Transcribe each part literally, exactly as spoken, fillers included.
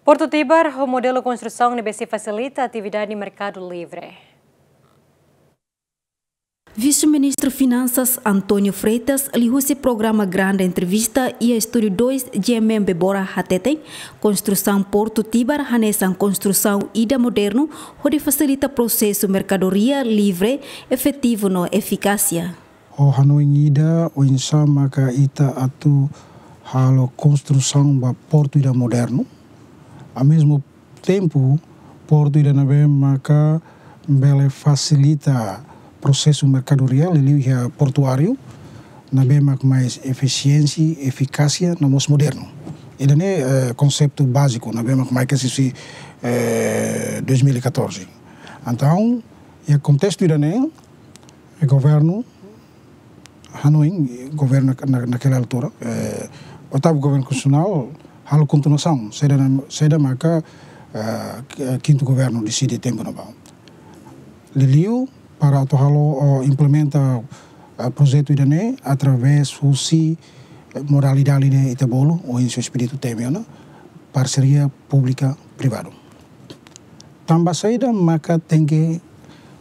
Portu Tibar ho modelu konstrusaun ne'ebé sei fasilita atividade merkadu livre. Vise-Ministru Finansas António Freitas, liuhusi programa Grande Entrevista iha Estúdiu dois GMM Bebora hateten, konstrusaun Portu Tibar hanesan konstrusaun ida modernu hodi fasilita prosesu merkadoria livre, efetivu no efikásia. Ho hanoin ida oinsá maka ita atu halo konstrusaun ba portu ida modernu. Ao mesmo tempo, portu ida ne'ebé maka bele fasilita prosesu merkadoria, liuliu iha portuáriu, ne'ebé mak mais efisiénsia, efikásia, no mós modernu. Ida-ne'e, eh, konseitu báziku, ne'ebé mak mai husi, eh, dois mil e catorze. Entaun, iha kontestu ida-ne'e, eh, governu, hanoin, governu na, na, naquela altura, eh, oitavu governu konstitusionál, halo kontinuasaun, saida na, saida maka, eh, ki-, kintu governu deside tempu ne'ebá. Liuliu, para atu halo, ou implementa, eh, projetu ida-ne'e, através husi, eh, modalidade ida ita bolu, ou em seu espírito temi ona, parseria públika privadu. Tanba saida maka tenke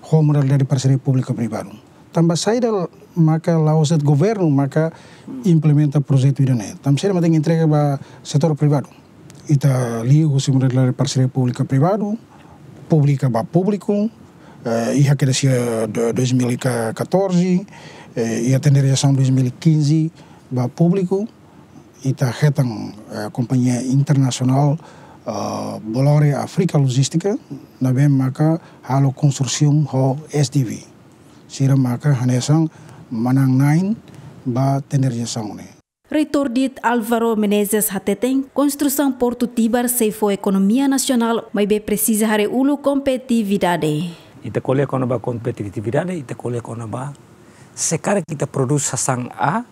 ho modalidade parseria públika privadu? Tanba saida maka la'ós de'it governu maka implementa projetu ida-ne'e? Tanba saida maka tenke entrega ba setór privadu? Ita liu husi modalidade parseria públika privadu, públika ba públiku, eh, iha kedas iha do-, dois mil e catorze, eh, iha tenderizasaun dois mil e quinze ba públiku, ita hetan, eh, kompañia internasionál, eh, Bolloré Africa Logística, ne'ebé maka halo konsorsiu ho S D V. Sira maka hanesan manán-na'in ba tenderizasaun ne'e. Reitór DIT Álvaro Menezes hateten, konstrusaun Portu Tibar sei fó ekonomia nasionál, maibé presiza haree uluk kompetitividade. Ita ko'alia kona-ba kompetitividade, ita ko'alia kona-ba se karik ita prodús sasán A,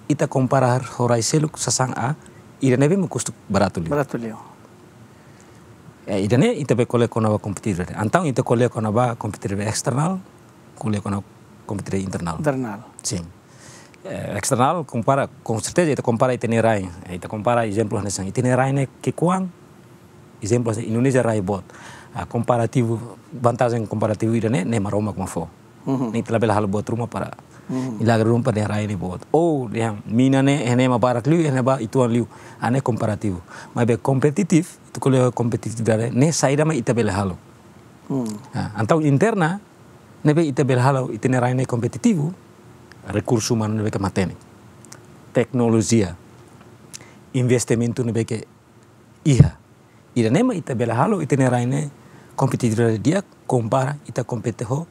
ita kompara ho rai seluk sasán A, ida ne'ebé mak kustu baratu liu. Baratu liu. Eh, ida-ne'e ita bele ko'alia kona-ba kompetitividade. Entaun ita ko'alia kona-ba kompetitividade esternál, ko'alia kona-ba kompetitividade internál. Internál. Sin. Eh, esternál kompara, com certeza ita kompara ita-nia rai. Eh, ita kompara ezemplu hanesan ita-nia rai ne'e ki'ikoan, ezemplu hanesan Indonézia rai boot. Ah, komparativu, vantajen komparativu ida-ne'e, ne'e Maromak mak fó. Mhm. Ne'e ita labele halo buat ruma para, mhm, milagre ruma para rai ne'e boot. Ou dehan mina ne'e, ne'e mak barak liu, ne'e mak uitoan liu. Ah, ne'e komparativu. Maibé kompetitif, ita ko'alia kompetitividade, ne'e saida mak ita bele halo. Hmm. Ah, entaun interna, ne'ebé ita bele halo, ita-nia rai ne'e kompetitivu, rekursu umanu ne'ebé ke matenek. Teknolojia, investimentu ne'ebé ke iha. Ida-ne'e mak ita bele halo, ita-nia rai ne'e kompetitividade di'ak, kompara ita kompete ho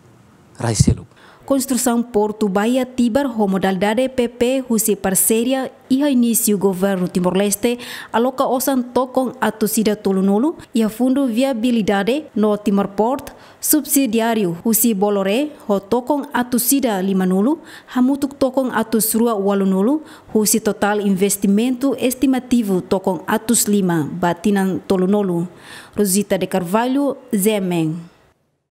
rai seluk. Konstrusaun Portu Baía Tibar ho modalidade P P husi parseria iha inísiu Governu Timor-Leste aloka osan tokon atus ida tolunulu iha Fundu Viabilidade no Timor Port subsidiáriu husi Bolloré ho tokon atus ida limanulu, hamutuk tokon atus rua ualunulu, husi totál investimentu estimativu tokon atus lima ba tinan tolunulu. Rosita de Carvalho, Z M N.